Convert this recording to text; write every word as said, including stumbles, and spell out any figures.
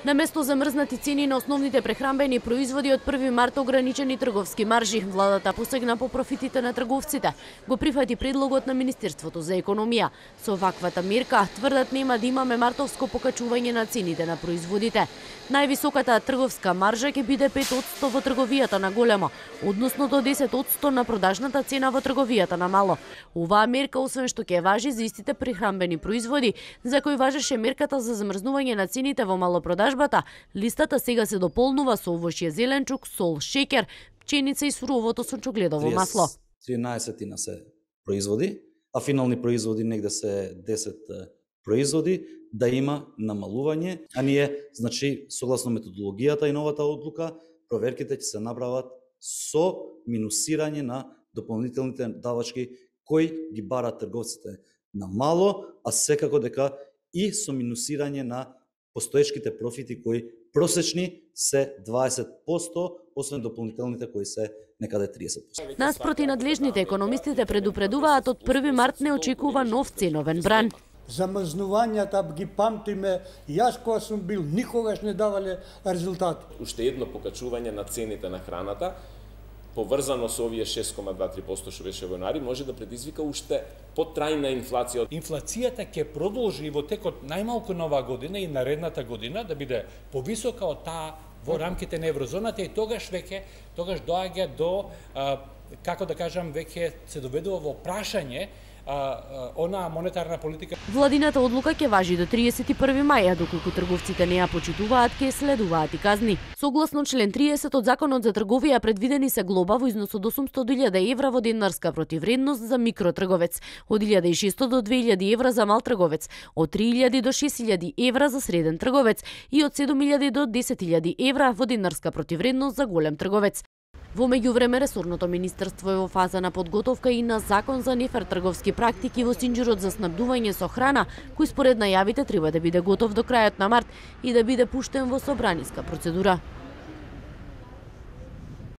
На место замрзнати цени на основните прехранбени производи од први март ограничени трговски маржи, владата посегна по профитите на трговците. Го прифати предлогот на Министерството за економија. Со ваквата мерка тврдат нема да имаме мартовско покачување на цените на производите. Највисоката трговска маржа ќе биде пет одсто во трговијата на големо, односно до десет одсто на продажната цена во трговијата на мало. Оваа мерка освен што ќе важи за истите прехранбени производи, за кои важеше мерката за замрзнување на цените во малопродажбата, листата сега се дополнува со овошје, зеленчук, сол, шеќер, пченица и суровото сончогледово масло. тринаесет се производи, а финални производи негде се десет производи, да има намалување, а ние, значи, согласно методологијата и новата одлука, проверките ќе се направат со минусирање на дополнителните давачки кои ги барат трговците на мало, а секако дека и со минусирање на постоечките профити кои просечни се дваесет одсто, освен дополнителните кои се некаде триесет одсто. Наспроти надлежните економистите предупредуваат од први март не очекува нов ценовен бран. Замрзнувањата ги памтиме, јас кога сум бил никогаш не давале резултат. Уште едно покачување на цените на храната, поврзано со овие шест кoma дваесет и три одсто што беше во јануари, може да предизвика уште потрајна инфлација. Инфлацијата ќе продолжи во текот најмалку на оваа година и наредната година да биде повисока од таа во рамките на еврозоната и тогаш веќе тогаш доаѓа до а, како да кажам веќе се доведува во прашање А, а, она монетарна политика. Владината одлука ќе важи до триесет и први мај, а доколку трговците не ја почитуваат, ќе следуваат и казни. Согласно член триесет од Законот за трговија предвидени се глоба во износ од осумсто до илјада евра во денарска противвредност за микротрговец, од илјада и шесто до две илјади евра за мал трговец, од три илјади до шест илјади евра за среден трговец и од седум илјади до десет илјади евра во денарска противвредност за голем трговец. Во меѓувреме, ресорното министерство е во фаза на подготовка и на закон за нефер трговски практики во синџирот за снабдување со храна, кој според најавите треба да биде готов до крајот на март и да биде пуштен во собраниска процедура.